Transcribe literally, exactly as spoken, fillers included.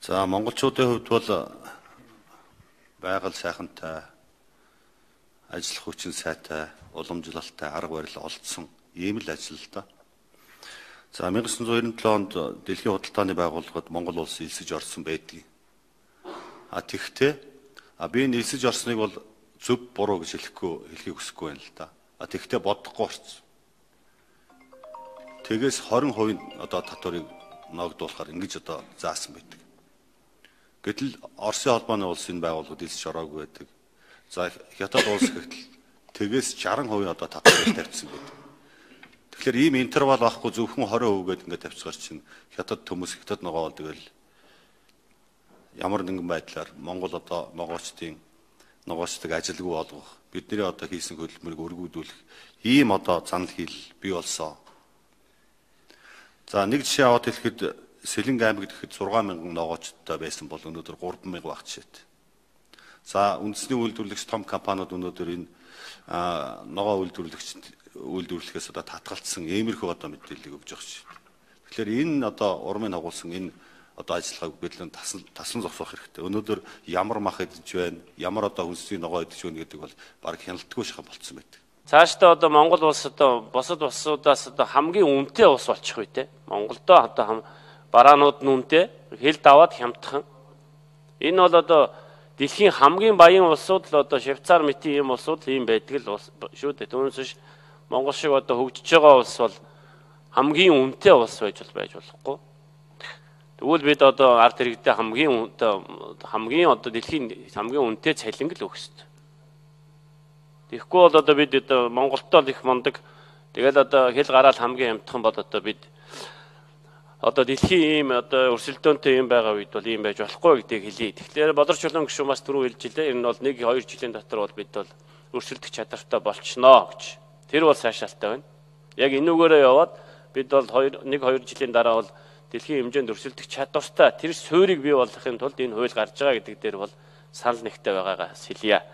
За монголчуудын хувьд бол байгаль сайхантай, ажил хүчин сайтай, уламжлалтай, арга барил олдсон ийм л ажил л да. За 천구백 девяносто seven онд Дэлхийн худалдааны байгууллагад Монгол улс элсэж орсон байдгийг. А тэгвэл а би энэ элсэж орсныг бол зөв буруу гэж хэлэхгүй хэлхийг хүсэхгүй байна л да. А тэгвэл бодохгүй орсон. Тэгээс twenty percent одоо татварыг ногдуулахаар ингэж одоо заасан байдаг. Гэтэл Оросын холбооны улсын байгууллагууд элсэж ороогүй байдаг. За Хятад улс гэтэл тэгээс sixty percent одоо татварыг тавьчихсан байдаг. Тэгэхээр ийм интервал байхгүй зөвхөн twenty percent гээд ингээд тавьчихар чинь Хятад төмөс Хятад ногоо тэгэл ямар нэгэн байдлаар Монгол одоо ногоочдын ногоочдыг ажилгүй болгох, бидний одоо хийсэн хөдөлмөрийг өргүүдүүлэх ийм одоо занал хил бий болсон. За нэг жишээ аваад хэлэхэд Сэлэнг аймаг гэхэд six thousand ногоочдтой байсан бол өнөөдөр three thousand баг жишээт. За үндэсний үйлдвэрлэгч том компаниуд өнөөдөр энэ ногоо үйлдвэрлэгч үйлдвэрлэхээс одоо татгалцсан иймэрхүү одоо мэдээллийг өгж байгаа шүү. Тэгэхээр энэ одоо урмын агуулсан энэ одоо ажиллагааг бидлэн тасан тасан зогсоох хэрэгтэй. Өнөөдөр ямар мах идэж байна, ямар одоо хүнсний ногоо идэж байна гэдэг бол баг хяналтгүй шахав болцсон байдаг. Цаашдаа одоо Монгол улс одоо бусад улсуудаас одоо хамгийн үнэтэй улс болчих үе те. Монголдоо одоо бараанууд нь үнэтэй, хэл даваад хямдхан. Энэ бол одоо дэлхийн хамгийн баян улсууд л одоо Швейцар мэтийн ийм улсууд ийм байдаг л шүү дээ. Түүнээс биш Монгол шиг одоо хөгжиж байгаа улс бол хамгийн үнэтэй улс байж бол байж болохгүй. Тэгвэл бид одоо ард иргэдээ хамгийн үнэтэй хамгийн одоо дэлхийн хамгийн үнэтэй цалин л өгөх ёстой. Тэгэхгүй бол одоо бид одоо Монголтоо л их мундаг. Тэгэл одоо хэл гараал хамгийн хямдхан бол одоо бид одоо дэлхийн ийм одоо өрсөлдөөнтэй юм байгаа үед бол ийм байж болохгүй гэдгийг хэлье. Тэгэхээр Болорч Чулуун гишүүн бас түрүү хэлж илээ. Энэ бол нэг two жилийн дотор бол бид бол өрсөлдөх чадвартай болчихноо гэж. Тэр бол сайшаалтай байна. Яг энүүгээрээ яваад бид бол one two жилийн дараа бол дэлхийн хэмжээнд өрсөлдөх чадвартай тэр суурийг бий болгохын тулд энэ хууль гарч байгаа гэдэг дээр бол санал нэгтэй байгаагаас хэлье.